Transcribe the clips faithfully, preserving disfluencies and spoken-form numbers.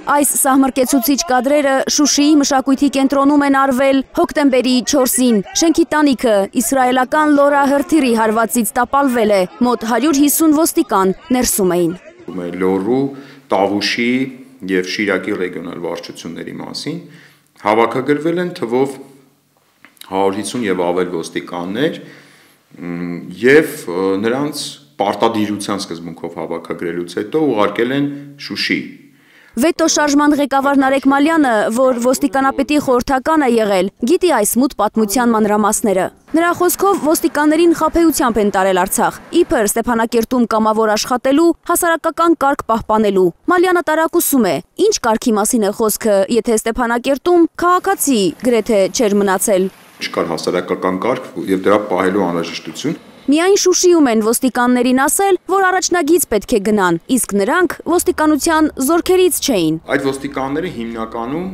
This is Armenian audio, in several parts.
Այս սահմռկեցուցիչ կադրերը Շուշիի մշակույթի կենտրոնում են արվել հոկտեմբերի չորսին։ Շենքի տանիքը իսրայելական Լորա Հրթիրի հարվածից տապալվել է, մոտ հարյուր հիսուն ոստիկան ներսում էին։ Լոռու, Տավուշի և Շիրակի ռեգիոնալ վարչությունների մասին հավաքագրվել են թվով հարյուր հիսուն և ավել ոստիկաններ և նրանց պարտադիրության սկզբունքով հավաքագրելուց հետո ուղարկել են Շուշի։ Վետո շարժման ղեկավար Նարեկ Մալյանը, որ ոստիկանապետի խորհրդական է եղել, գիտի այս մութ պատմության մանրամասները։ Նրա խոսքով ոստիկաններին խաբեությամբ են տարել Արցախ, իբր Ստեփանակերտում կամավոր աշխատելու, հասարակական կարգ պահպանելու։ Մալյանը տարակուսում է, ինչ կարգի մասին է խոսքը, եթե Ստեփանակերտում քաղաքացի գրեթե չէր մնացել։ Չկար հասարակական կարգ և դրա պահելու անհրաժեշտություն։ Միայն Շուշիում են ոստիկաններին ասել, որ առաջնագիծ պետք է գնան, իսկ նրանք ոստիկանության զորքերից չէին։ Այդ ոստիկանները հիմնականում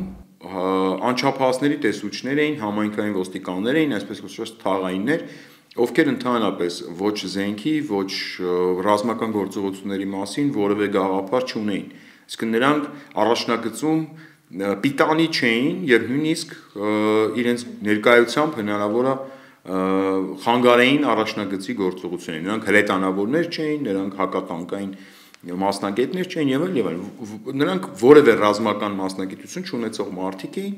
անչափահասների տեսուչներ էին, համայնքային ոստիկաններ էին, այսպես կոչված թաղայիններ, ովքեր ընդհանրապես ոչ զենքի, ոչ ռազմական գործողությունների մասին որևէ գաղափար չունեին։ Իսկ նրանք առաջնագծում պիտանի չէին և նույնիսկ իրենց ներկայությամբ հնարավոր է խանգարեին առաջնագծի գործողություններին, նրանք հրետանավորներ չէին, նրանք հակատանկային մասնագետներ չէին եւ այլ եւ այլ, նրանք որևէ ռազմական մասնագիտություն չունեցող մարդիկ էին,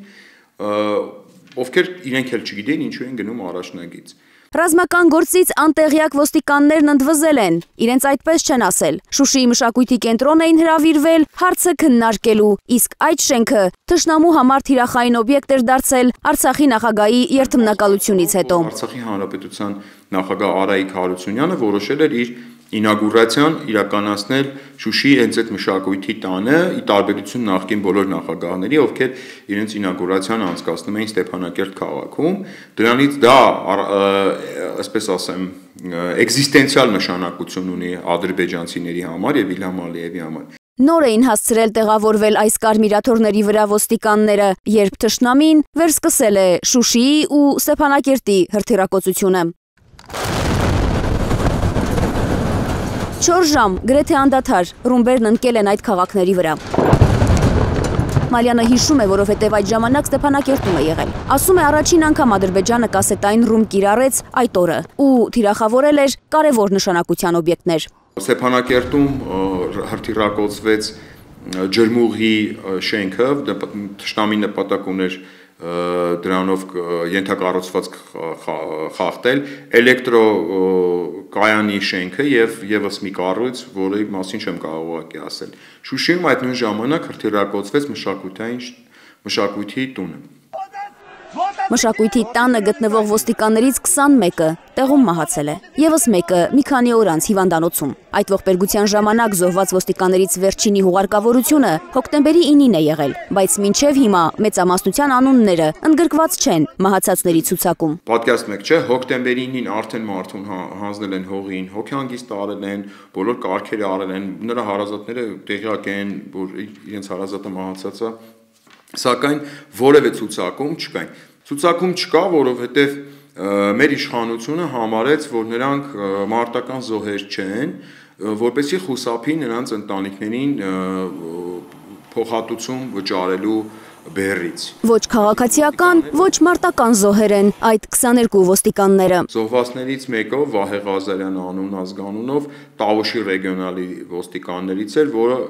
ովքեր իրենք էլ չգիտեին ինչու են գնում առաջնագիծ։ Ռազմական գործից անտեղյակ ոստիկաններն ընդվզել են, իրենց այդպես չեն ասել։ Շուշիի մշակույթի կենտրոն էին հրավիրվել հարցը քննարկելու, իսկ այդ շենքը թշնամու համար թիրախային օբյեկտ էր դարձել Արցախի նախագահի երթմնակալությունից հետո։ Արցախի հանրապետության նախագահ Արայիկ Հարությունյանը որոշել էր իր ինագուրացիան իրականացնել Շուշիի հենց այդ մշակույթի տանը, ի տարբերություն նախկին բոլոր նախագահների, ովքեր իրենց ինագուրացիան անցկացնում էին Ստեփանակերտ քաղաքում, դրանից դա, այսպես ասեմ, էկզիստենցիալ նշանակություն ունի ադրբեջանցիների համար և Իլհամ Ալիևի համար։ Նոր էին հասցրել տեղավորվել այս կարմիրաթոռների վրա ոստիկանները, երբ թշնամին վերսկսել է Շուշիի ու Ստեփանակերտի հրթիռակոծությունը։ Չորս ժամ գրեթե անդադար ռումբերն ընկել են այդ քաղաքների վրա։ Մալյանը հիշում է, որովհետև այդ ժամանակ Ստեփանակերտում է եղել։ Ասում է, առաջին անգամ Ադրբեջանը կասետային ռումբ կիրառեց այդ օրը ու թիրախավորել էր կարևոր նշանակության օբյեկտներ։ Ստեփանակերտում հրթիռակոծվեց ջրմուղի շենքը, թշնամի նպատակ ուներ դրանով ենթակառուցվածք խախտել, էլեկտրոկայանի շենքը և ևս մի կառույց, որի մասին չեմ կարող ուղղակի ասել։ Շուշիում այդ նույն ժամանակ հրթիռակոծվեց մշակույթի տունը։ Մշակույթի տանը գտնվող ոստիկաններից քսանմեկը տեղում մահացել է, ևս մեկը մի քանի օր անց հիվանդանոցում։ Այդ ողբերգության ժամանակ զոհված ոստիկաններից վերջինի հուղարկավորությունը հոկտեմբերի ինին է եղել, բայց մինչև հիմա մեծամասնության անունները ընդգրկված չեն մահացածների ցուցակում։ Պատկերացնում եք, չէ, հոկտեմբերի ինին արդեն մարդուն հանձնել են հողին, հոգեհանգիստ արել են, բոլոր կարգերը արել են, նրա հարազատները տեղյակ են, որ իրենց հարազատը մահացած է, սակայն որևէ ցուցակում չկային։ Ցուցակում չկա, որովհետև մեր իշխանությունը համարեց, որ նրանք մարտական զոհեր չեն, որպեսզի խուսափի նրանց ընտանիքներին փոխհատուցում վճարելու բեռից։ Ոչ քաղաքացիական, ոչ մարտական զոհեր են այդ քսաներկու ոստիկանները։ Զոհվածներից մեկը Վահե Ղազարյան անուն ազգանունով Տավուշի ռեգիոնալի ոստիկաններից էր, որը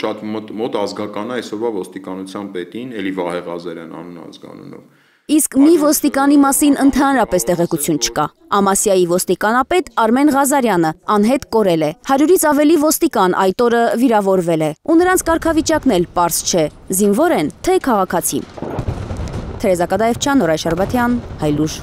շատ մոտ ազգական է այսօրվա ոստիկանության պետին, էլի Վահե Ղազարյան անուն ազգանունով։ Իսկ մի ոստիկանի մասին ընդհանրապես տեղեկություն չկա։ Ամասիայի ոստիկանապետ Արմեն Ղազարյանը անհետ կորել է։ Հարյուրից ավելի ոստիկան այդ օրը վիրավորվել է, ու նրանց կարգավիճակն էլ պարզ չէ, զինվոր են, թե քաղաքացի։ Թերեզա Կադաևչյան, Նորայր Շարբաթյան, Հայլուժ։